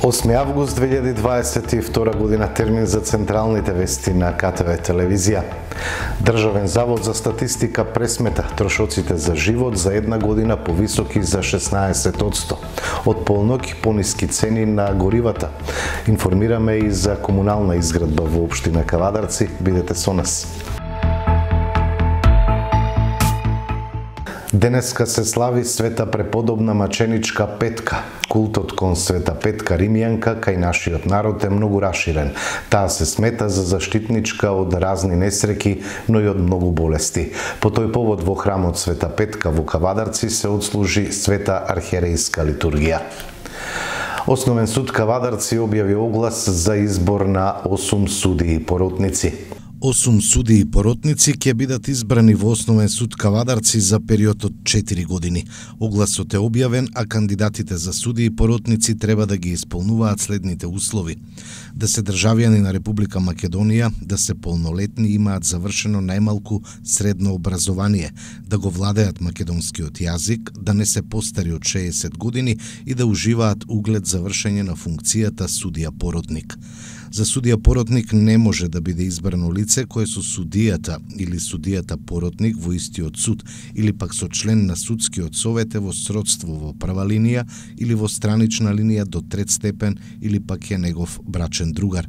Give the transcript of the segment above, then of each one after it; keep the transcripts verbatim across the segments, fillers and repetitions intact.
осми август две илјади дваесет и втора година, термин за централните вести на К Т В телевизија. Државен завод за статистика пресмета трошоците за живот за една година повисоки за шеснаесет одсто. Од полноќ пониски цени на горивата. Информираме и за комунална изградба во општина Кавадарци. Бидете со нас. Денеска се слави Света Преподобна Маченичка Петка. Култот кон Света Петка Римјанка кај нашиот народ е многу раширен. Таа се смета за заштитничка од разни несреќи, но и од многу болести. По тој повод во храмот Света Петка во Кавадарци се отслужи Света архиерејска литургија. Основен суд Кавадарци објави оглас за избор на осум судии и поротници. Осум судии и поротници ќе бидат избрани во Основен суд Кавадарци за период од четири години. Огласот е објавен, а кандидатите за судии и поротници треба да ги исполнуваат следните услови: да се државјани на Република Македонија, да се полнолетни и имаат завршено најмалку средно образование, да го владеат македонскиот јазик, да не се постари од шеесет години и да уживаат углед за вршење на функцијата судија поротник. За судија поротник не може да биде избрано лице кое со судијата или судијата поротник во истиот суд или пак со член на судскиот совет е во сродство во прва линија или во странична линија до трет степен или пак е негов брачен другар.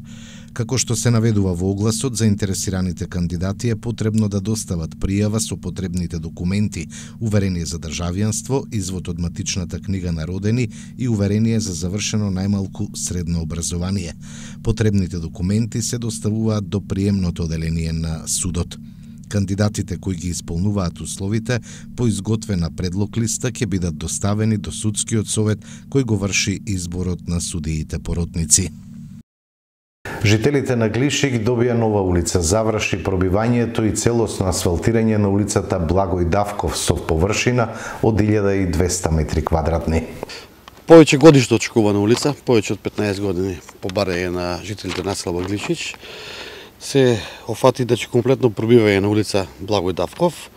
Како што се наведува во огласот, заинтересираните кандидати е потребно да достават пријава со потребните документи, уверение за државјанство, извод од матичната книга на родени и уверение за завршено најмалку средно образование. Потребните документи се доставуваат до приемното оделение на судот. Кандидатите кои ги исполнуваат условите по изготвена предлог листа ќе бидат доставени до судскиот совет кој го врши изборот на судиите поротници. Жителите на Глишик добија нова улица, заврши пробивањето и целосно асфалтирање на улицата Благој Давков со површина од илјада и двесте метри квадратни. Повеќе годишно очекувана улица, повеќе од петнаесет години по барање на жителите на населба Глишич, се офати да комплетно пробивање на улица Благој Давков,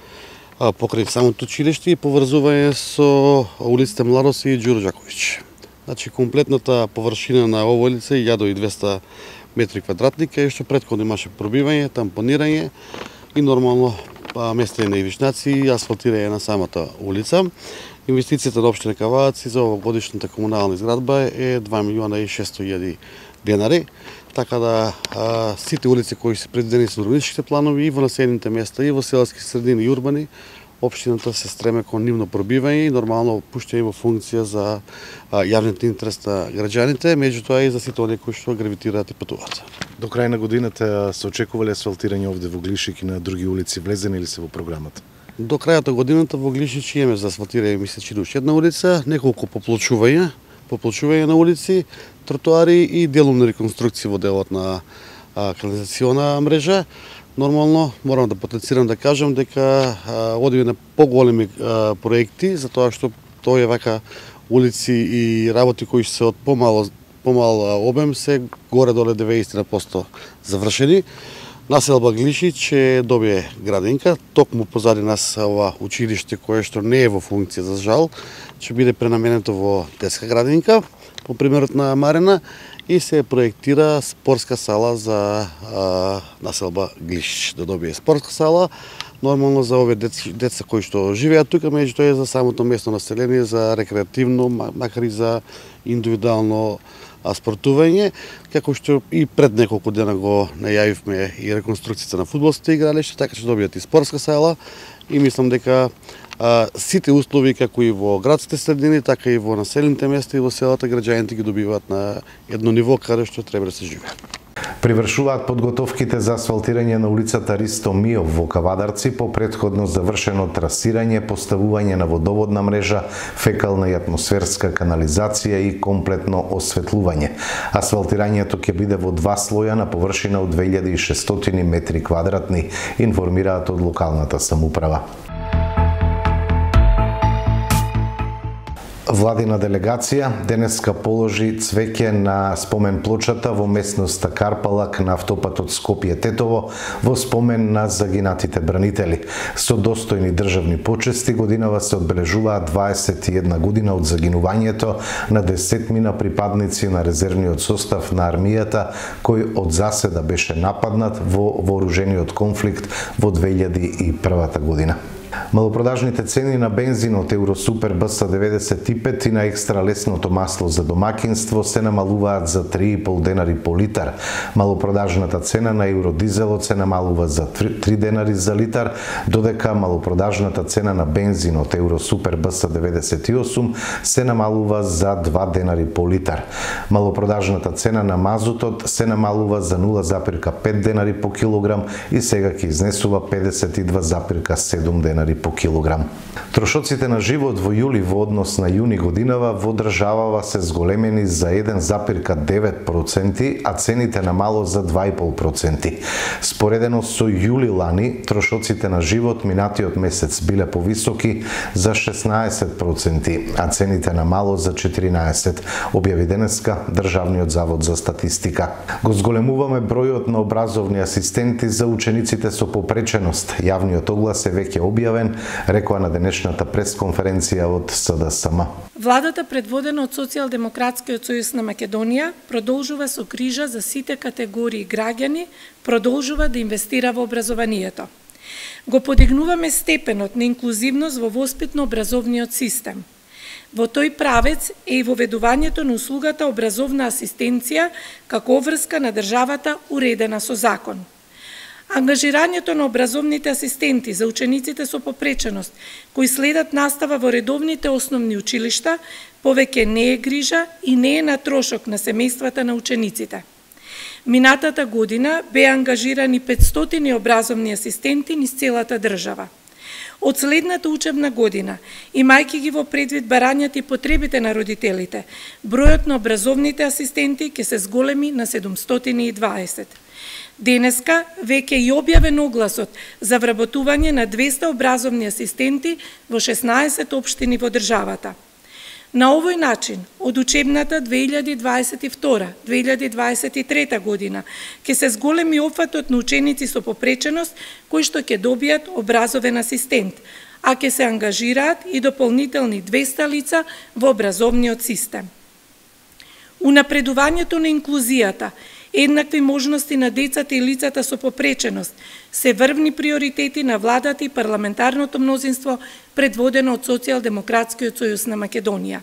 покрај самото училиште и поврзување со улиците Младост и Ѓуро Ѓаковиќ. Значи комплетната површина на овој улица е илјада и двесте метри квадратни, кај што претходно имаше пробивање, тампонирање и нормално местење на ивичнаци и асфалтирање на самата улица. Инвестицијата на општина Кавадарци за овогодишната комунална изградба е два милиона и шесто илјади денари, така да а, сите улици кои се предвидени со урбанистичките планови и во населените места и во селски средини и урбани, општината се стреме кон нивно пробивање и нормално пуштање во функција за а, јавниот интерес на граѓаните, меѓутоа и за сите оние кои што гравитираат и патуваат. До крај на годината се очекува ли асфалтирање овде во Глишик и на други улици, влезени ли се во програмата? До крајот на годината во Глишич имаме за асфалтирање, мисля, че уште една улица, неколку поплочувања, поплочување на улици, тротоари и делумна реконструкција во делот на а, канализациона мрежа. Нормално, морам да потенцирам да кажам дека одиме на поголеми а, проекти, затоа што тоа е вака улици и работи кои се од помало помал обем се горе-доле деветдесет на посто завршени. Населба Глишич е добие градинка, токму позади нас ова училиште кое што не е во функција за жал, ќе биде пренаменето во детска градинка, по примерот на Марина, и се проектира спортска сала за а, населба Глишич, да добие спортска сала, нормално за овие деца кои што живеат тука, меѓутоа е за самото местно население, за рекреативно, макар и за индивидуално спортување, како што и пред неколку дена го најавивме и реконструкцијата на фудбалските игралишта, така што добијат и спортска сала и мислам дека а, сите услови како и во градските средини, така и во населените места и во селата граѓаните ги добиваат на едно ниво каде што треба да се живее. Привршуваат подготовките за асфалтирање на улицата Ристо Миов во Кавадарци по претходно завршено трасирање, поставување на водоводна мрежа, фекална и атмосферска канализација и комплетно осветлување. Асфалтирањето ќе биде во два слоја на површина од две илјади и шестстотини метри квадратни, информираат од локалната самоуправа. Владина делегација денеска положи цвеќе на спомен плочата во местноста Карпалак на автопатот Скопје-Тетово во спомен на загинатите бранители. Со достојни државни почести годинава се одбележуваат дваесет и една година од загинувањето на десетмина припадници на резервниот состав на армијата кој од заседа беше нападнат во вооружениот конфликт во две илјади и прва година. Малопродажните цени на бензинот Евросупер Б С деветдесет и пет и на екстра лесното масло за домакинство се намалуваат за три и пол денари по литар. Малопродажната цена на евродизелот се намалува за три денари за литар, додека малопродажната цена на бензинот Евросупер Б С деветдесет и осум се намалува за два денари по литар. Малопродажната цена на мазутот се намалува за нула запирка пет денари по килограм и сега ќе изнесува педесет и два запирка седум денари по килограм. Трошоците на живот во јули во однос на јуни годинава во државава се зголемени за еден запирка девет проценти, а цените на мало за два и пол проценти. Споредено со јули лани, трошоците на живот минатиот месец биле повисоки за шеснаесет проценти, а цените на мало за четиринаесет, објави денеска Државниот завод за статистика. Го зголемуваме бројот на образовни асистенти за учениците со попреченост. Јавниот оглас е веќе објавен, рекоа на денешната пресконференција од С Д С М. Владата, предводена од Социјалдемократскиот сојуз на Македонија, продолжува со грижа за сите категории граѓани, продолжува да инвестира во образованието. Го подигнуваме степенот на инклузивност во воспитно-образовниот систем. Во тој правец е и воведувањето на услугата образовна асистенција како обврска на државата уредена со закон. Ангажирањето на образовните асистенти за учениците со попреченост, кои следат настава во редовните основни училишта, повеќе не е грижа и не е на трошок на семејствата на учениците. Минатата година беа ангажирани петстотини образовни асистенти низ целата држава. Од следната учебна година, имајќи ги во предвид барањата и потребите на родителите, бројот на образовните асистенти ќе се зголеми на седумстотини и дваесет. Денеска веќе и објавен огласот за вработување на двеста образовни асистенти во шеснаесет општини во државата. На овој начин, од учебната две илјади дваесет и втора - две илјади дваесет и трета година, ќе се зголеми опфатот на ученици со попреченост кои што ќе добијат образовен асистент, а ќе се ангажираат и дополнителни двеста лица во образовниот систем. Унапредувањето на инклузијата, еднакви можности на децата и лицата со попреченост се врвни приоритети на владата и парламентарното мнозинство предводено од Социјалдемократскиот сојуз на Македонија.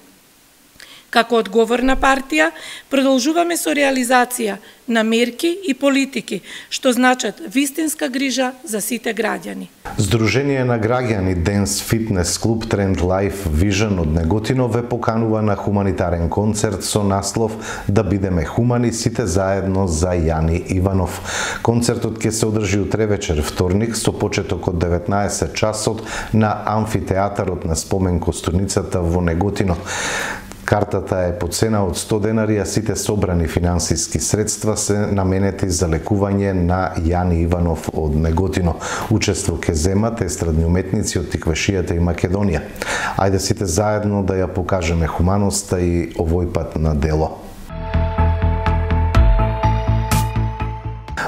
Како одговорна партија, продолжуваме со реализација на мерки и политики, што значат вистинска грижа за сите граѓани. Сдружение на граѓани Денс Фитнес Клуб Тренд Life Vision од Неготино ве поканува на хуманитарен концерт со наслов "Да бидеме хумани сите заедно за Јани Иванов". Концертот ќе се одржи утре вечер вторник со почеток од деветнаесет часот на амфитеатарот на Спомен Костурницата во Неготино. Картата е по цена од сто денари, а сите собрани финансиски средства се наменети за лекување на Јани Иванов од Неготино. Учество ќе земат естрадни уметници од Тиквешијата и Македонија. Ајде сите заедно да ја покажеме хуманоста и овој пат на дело.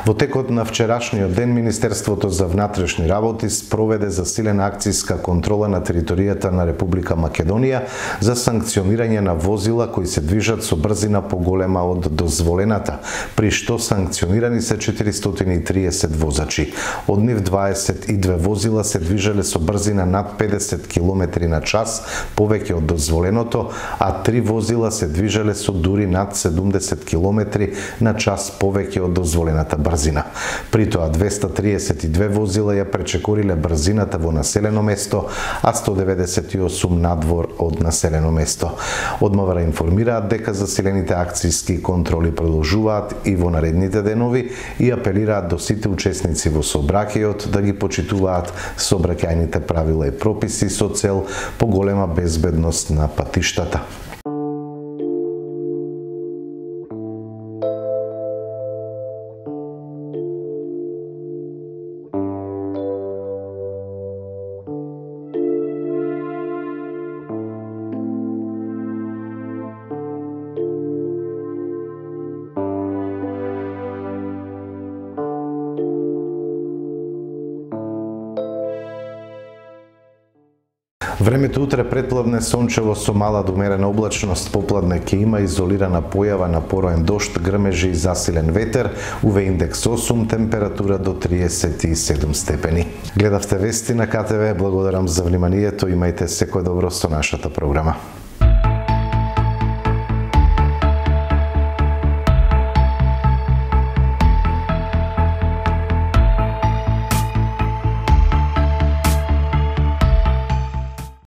Во текот на вчерашниот ден, Министерството за внатрешни работи спроведе засилена акцијска контрола на територијата на Република Македонија за санкционирање на возила кои се движат со брзина поголема од дозволената, при што санкционирани се четиристотини и триесет возачи. Од нив дваесет и две возила се движеле со брзина над педесет километри на час, повеќе од дозволеното, а три возила се движеле со дури над седумдесет километри на час повеќе од дозволената брзина. При тоа двеста триесет и две возила ја пречекориле брзината во населено место, а сто деветдесет и осум надвор од населено место. Од МВР информираат дека засилените акцијски контроли продолжуваат и во наредните денови и апелираат до сите учесници во сообраќајот да ги почитуваат сообраќајните правила и прописи со цел поголема безбедност на патиштата. Времето утре претпладне сончево со мала до умерена облачност, попладне ќе има изолирана појава на пороен дожд, грмежи и засилен ветер, У В индекс осум, температура до триесет и седум степени. Гледавте вести на К Т В, благодарам за вниманието, имајте секој добро со нашата програма.